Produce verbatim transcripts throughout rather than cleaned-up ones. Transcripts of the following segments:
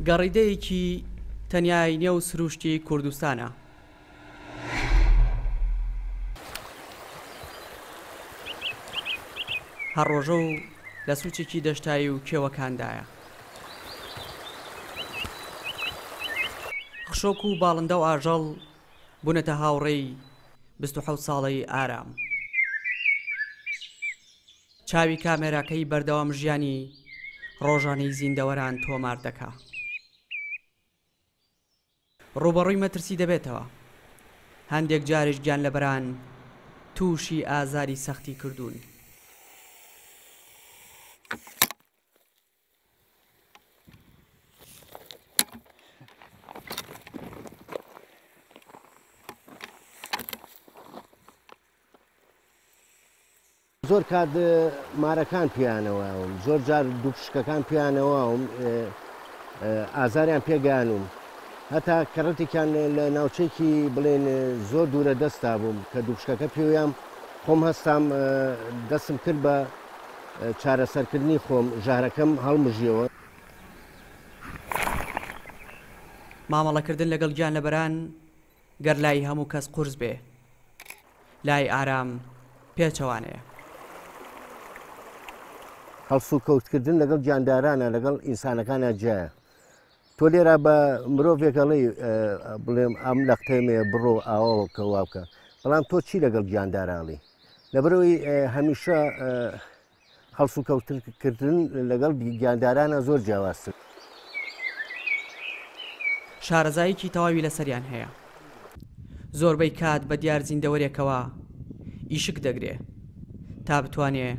گەڕیدەیەکی تەنیای نێو سروشتی کوردستانە. هەر ڕۆژە و لە سوچێکی دەشتایی و کێوەکاندایە. خشۆک و باڵندە و ئاژەڵ بوونەتە هاوڕێی بیست و حەوت ساڵەی ئارام. چاوی کامێراکەی بەردەوام ژیانی ڕۆژانەی زیندەوەران تۆمار دەکا. ڕووبەڕووی مەترسی دەبێتەوە. هەندێک جاریش گیانلەبەران تووشی ئازاری سەختی کردوون. زۆر کات مارەکان پیانەوەم، زۆر جار دوو پشکەکان پیانەوەم، ئازاریان پێگەیانوم. هەتا کەڕەتێکیان لە ناوچەیەکی بڵێن زۆر دوورە دەستا بووم کە دوو پشکەکە پێویان خۆم هەستام دەستم کرد بە چارەسەرکردنی خۆم، ژەهرەکەم هەڵمژیەوە. مامەڵەکردن لەگەڵ گیانلەبەران گەر لای هەموو کەس قورس بێ، لای ئارام پێچەوانەیە. هەڵسوکەوتکردن لەگەڵ گیاندارانە لەگەڵ ئینسانەکانە جیایە. تۆ لێرە بە مرۆڤێک ئەڵێی بڵێم ئەم لەختەمێ بڕۆ ئاوەوە کە وا بکە، بەڵام تۆ چی لەگەڵ گیانداراڵی؟ لەبەرەوەی هەمیشە هەڵسوکەوتکردن لەگەڵ گیاندارانە زۆر جیاوازتر. شارەزاییکی تەواوی لەسەریان هەیە. زۆربەی کات بە دیار زیندەوەرێکەوە ئیشک دەگرێ تا بتوانێ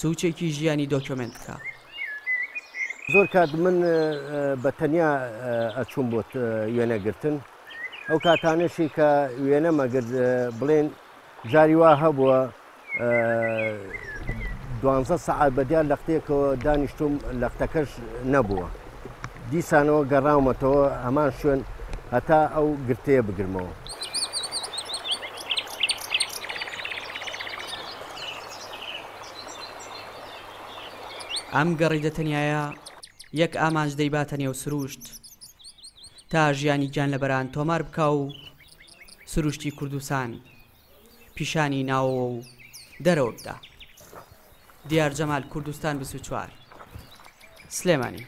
سوچێکی ژیانی دۆکیۆمێنت بکە. زۆر کات من بە تەنیا ئەچوم بۆ وێنەگرتن. ئەو کاتانەشی کە وێنەمەگرت بڵێن جاری وا هەبووە دوانزە سەعات بە دیار لەختەیەکەوە دانیشتوم، لەختەکەش نەبووە. دیسانەوە گەڕاومەتەوە هەمان شوێن هەتا ئەو گرتەیە بگرمەوە. ئەم گەڕیدە تەنیایە یەک ئامانج دەیباتە نێو سروشت تا ژیانی گیانلەبەران تۆمار بکا و سروشتی کوردستان پیشانی ناوەوە و دەرەوە بدا. دیار جەمال، کوردستان بیست و چوار، سلێمانی.